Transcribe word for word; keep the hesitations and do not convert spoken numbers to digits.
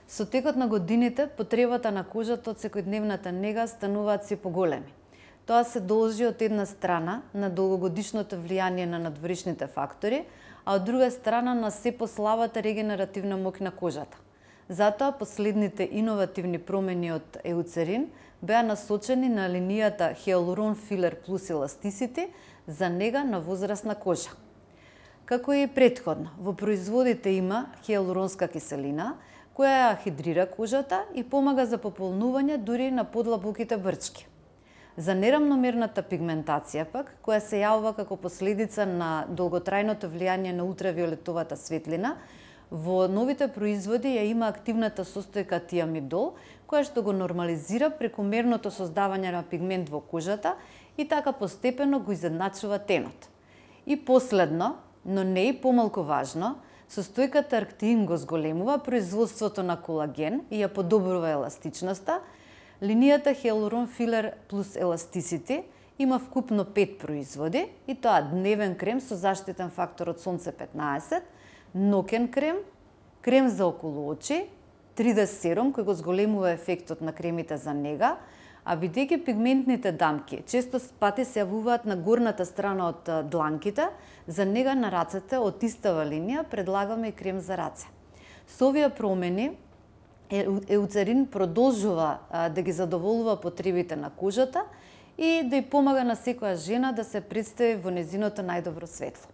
Со текот на годините, потребата на кожата од секојдневната нега стануваат се поголеми. Тоа се должи од една страна на долгогодишното влијание на надворешните фактори, а од друга страна на се послабата регенеративна моќ на кожата. Затоа последните иновативни промени од Еуцерин беа насочени на линијата Hyaluron Filler Plus Elasticity за нега на возрастна кожа. Како и претходно, во производите има хијалуронска киселина, која ја хидрира кожата и помага за пополнување дури на подлабоките брчки. За нерамномерната пигментација пак, која се јавува како последица на долготрајното влијание на ултравиолетовата светлина, во новите производи ја има активната состојка тиамидол, која што го нормализира прекомерното создавање на пигмент во кожата и така постепено го изедначува тенот. И последно, но не и помалку важно, состојката Арктеин го зголемува производството на колаген и ја подобрува еластичноста. Линијата Hyaluron Filler Plus Elasticity има вкупно пет производи, и тоа дневен крем со заштитен фактор од сонце петнаесет, ноќен крем, крем за околу очи, три Д серум кој го зголемува ефектот на кремите за нега, а бидејќи пигментните дамки често пати се јавуваат на горната страна од дланките, за нега на рацете од истава линија предлагаме и крем за раце. Со овие промени Еуцерин продолжува да ги задоволува потребите на кожата и да ја помага на секоја жена да се представи во нејзиното најдобро светло.